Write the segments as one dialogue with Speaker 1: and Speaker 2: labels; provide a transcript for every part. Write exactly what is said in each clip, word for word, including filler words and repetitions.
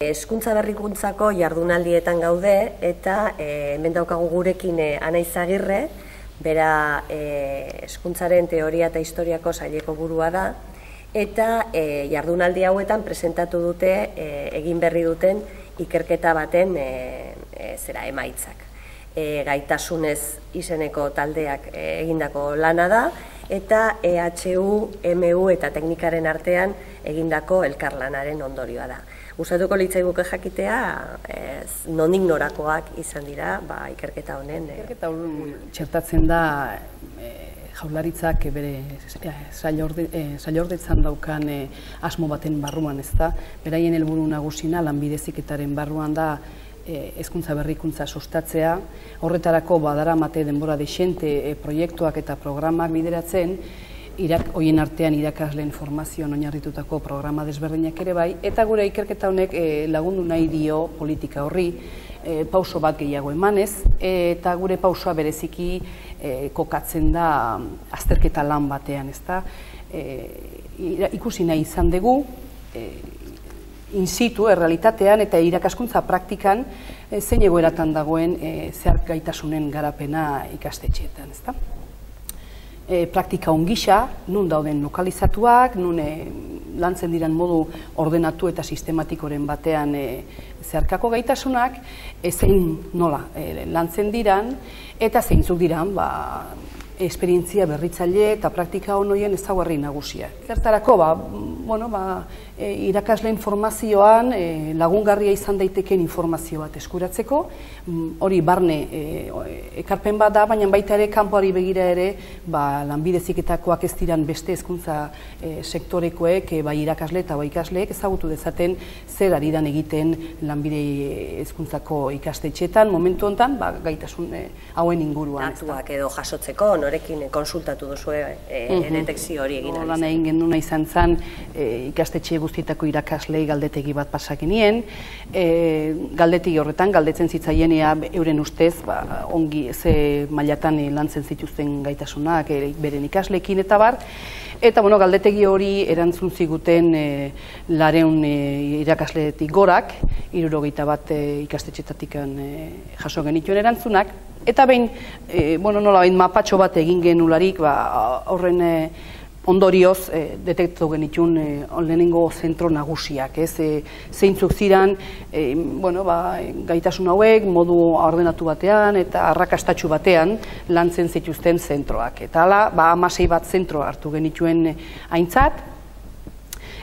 Speaker 1: Hezkuntza berrikuntzako jardunaldietan gaude eta hemen daukagu gurekin Ana Izagirre, bera hezkuntzaren teoria eta historiako saileko burua da, eta jardunaldi hauetan presentatu dute egin berri duten ikerketa baten zera emaitzak. Gaitasunez izeneko taldeak egindako lana da, eta E H U, M U eta teknikaren artean egindako elkarlanaren ondorioa da. Gustatuko litzaiguke jakitea, nondik norakoak izan dira ikerketa honen.
Speaker 2: Ikerketa honen txertatzen da Jaurlaritzak bere sailordetzan daukan asmo baten barruan, ez da. Beraien helburu nagusina lanbide heziketaren barruan da hezkuntza berrikuntza sustatzea. Horretarako badaramate denbora dexente proiektuak eta programak bideratzen, horien artean irakasleen formazioan oinarritutako programa desberdinak ere bai, eta gure ikerketa honek lagundu nahi dio politika horri, pauso bat gehiago emanez, eta gure pausoa bereziki kokatzen da azterketa lan batean, ezta. Ikusi nahi izan dugu, in situ, errealitatean eta irakaskuntza praktikan zein egoeratan dagoen zehark gaitasunen garapena ikastetxeetan, ezta. Praktika ongisa, nun dauden lokalizatuak, nun lantzen diran modu ordenatu eta sistematikoren batean zeharkako gaitasunak, zein nola lantzen diran, eta zeintzuk diran esperientzia berritzaile eta praktika honoien ezaugarri nagusia. Zertarako, irakasleen formazioan lagungarria izan daiteken informazio bat eskuratzeko, hori barne ekarpen bat da, baina baita ere kanpoari begira ere lanbide heziketakoak ez diran beste hezkuntza sektorekoek, bai irakasle eta bai ikasleek ezagutu dezaten zer ari dan egiten lanbide hezkuntzako ikastetxeetan, momentu honetan gaitasun hauen inguruan.
Speaker 1: Datuak edo jasotzeko, norekin konsultatu duzu detekzio hori egin
Speaker 2: alizatzen. Lan egin genuna izan zen ikastetxe guztietako irakaslei galdetegi bat pasakinien. Galdetegi horretan, galdetzen zitzaien euren ustez, ongi ze mailatan lantzen zituzten gaitasunak, beren ikasleekin eta bar. Eta galdetegi hori erantzun ziguten lareun irakasleetik gorak, hirurogeita bat ikastetxetatik jaso genituen erantzunak. Eta behin, nola behin mapatxo bat egin genularik, horren ondorioz detektatu genituen lehenengo zentro nagusiak, zeintzuk ziren gaitasun hauek modu ordenatu batean eta arrakastatsu batean lantzen zituzten zentroak. Eta hala, hamasei bat zentro hartu genituen aintzat,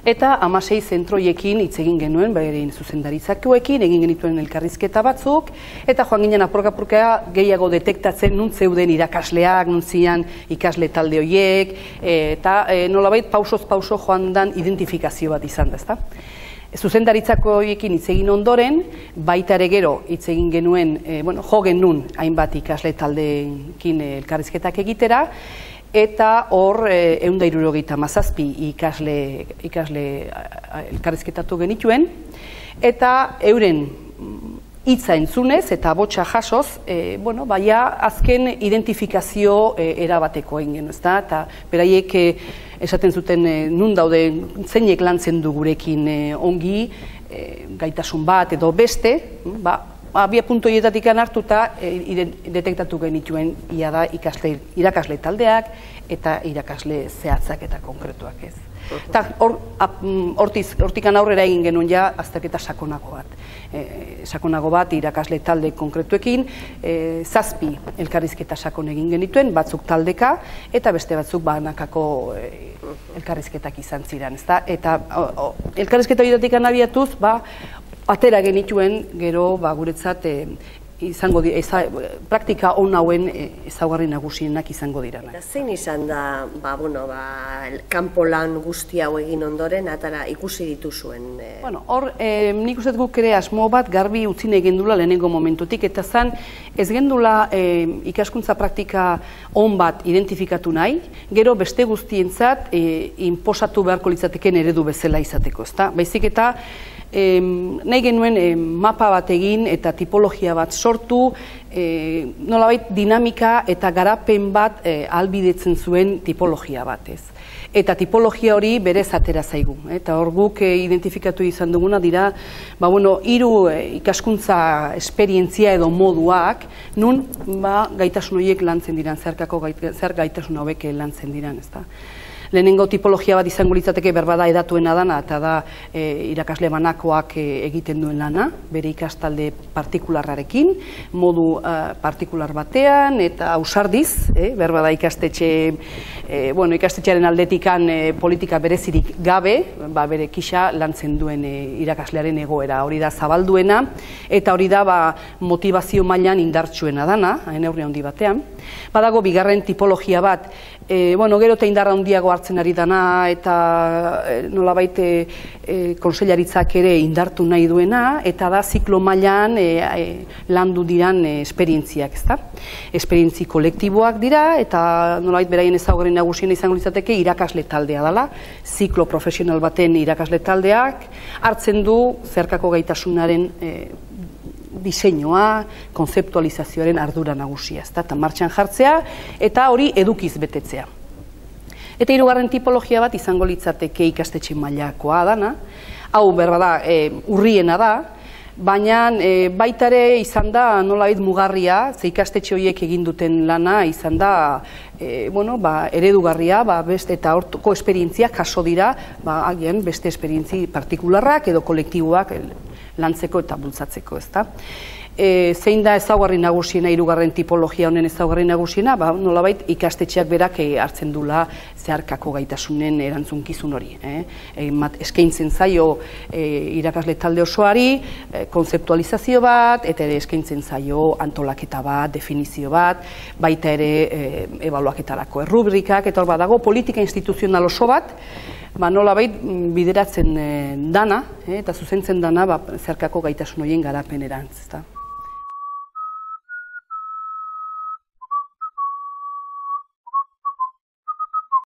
Speaker 2: eta hamasei zentroiekin hitz egin genuen, beren zuzendaritzakoekin, egin genituen elkarrizketa batzuk, eta joan ginen apurka-apurka gehiago detektatzen nun zeuden irakasleak, nun zian ikasle talde horiek, eta nolabait pausoz pauso joan dan identifikazio bat izan da, ezta? Zuzendaritzakoekin hitz egin ondoren, baita ere gero hitz egin genuen, jo genuen hainbat ikasle taldeekin elkarrizketak egitera, eta hor ehun eta hirurogeita hamazazpi ikasle elkarrizketatu genituen, eta euren hitza entzunez eta botsa jasoz, azken identifikazio erabateko egin genuen, eta beraiek esaten zuten nun daude zeinek lantzen du gurekin ongi, gaitasun bat edo beste, abia puntu horietatik hartuta detektatu genituen ia da irakasle taldeak eta irakasle zehatzak eta konkretuak ez. Eta hortik aurrera egin genuen ja azterketa sakonago bat. Sakonago bat irakasle talde konkretuekin, zazpi elkarrizketa sakon egin genituen, batzuk taldeka eta beste batzuk banakako elkarrizketak izan ziren. Eta elkarrizketa horietatik abiatuz, atera genituen gero guretzat praktika on hauen ezaugarri nagusienak izango dira.
Speaker 1: Zein izan da kanpo lan guzti hau egin ondoren atara ikusi dituzuen?
Speaker 2: Hor, nik uste guk ere asmo bat garbi utzi nahi gendula lehenengo momentutik, eta zan ez gendula ikaskuntza praktika on bat identifikatu nahi, gero beste guztientzat inposatu beharko litzateken eredu bezala izateko, ezta? Baizik eta e, nahi genuen e, mapa bat egin eta tipologia bat sortu, e, nolabait dinamika eta garapen bat e, ahalbidetzen zuen tipologia batez. Eta tipologia hori berez atera zaigu. Eta hor guk e, identifikatu izan duguna dira, ba, bueno, hiru e, ikaskuntza esperientzia edo moduak, nun ba, gaitasun horiek lantzen diran, zerkako gait, zer gaitasun hauek lantzen diran, ezta. Lehenengo tipologia bat izango litzateke berbada edatuena dana, eta da e, irakasle banakoak e, egiten duen lana, bere ikastalde partikularrarekin, modu uh, partikular batean, eta ausardiz, e, berbada ikastetxe, e, bueno, ikastetxearen aldetikan e, politika berezirik gabe, ba, bere kisa lantzen duen e, irakaslearen egoera, hori da zabalduena, eta hori da ba, motivazio mailan indartsuena dana, neurri handi batean. Badago bigarren tipologia bat, e, bueno, gero eta indarra handiago hartzen ari dana, eta e, nolabait e, e, konsellaritzak ere indartu nahi duena, eta da ziklo mailan e, e, landu diran e, esperientziak, ezta? Esperientzi kolektiboak dira, eta nolabait beraien ezaugarri nagusiena izango litzateke irakasle taldea dela, ziklo profesional baten irakasle taldeak, hartzen du zerkako gaitasunaren e, diseinua, konzeptualizazioaren ardura nagusia, ezta? Eta martxan jartzea, eta hori edukiz betetzea. Eta hirugarren tipologia bat izango litzateke ikastetxe mailakoa dana, hau berbada e, urriena da, baina e, baita ere izan da nolabait mugarria, ze ikastetxe horiek egin duten lana izan da e, bueno, ba, eredugarria, ba, beste eta hortuko esperientziak jaso dira, ba, agian beste esperientzi partikularrak edo kolektiboak lantzeko eta bultzatzeko, ezta? E, zein da ezaugarri nagusiena, hirugarren tipologia honen ezaugarri nagusiena, ba, nolabait ikastetxeak berak e, hartzen dula zeharkako gaitasunen erantzunkizun hori. Eh? E, mat, eskaintzen zaio e, irakasle talde osoari, e, konzeptualizazio bat, eta ere eskaintzen zaio antolaketa bat, definizio bat, baita ere e, ebaluaketarako errubrikak, eta hor badago politika instituzional oso bat, ba, nolabait bideratzen e, dana, eh, eta zuzentzen dana ba, zerkako gaitasun horien garapenerantz.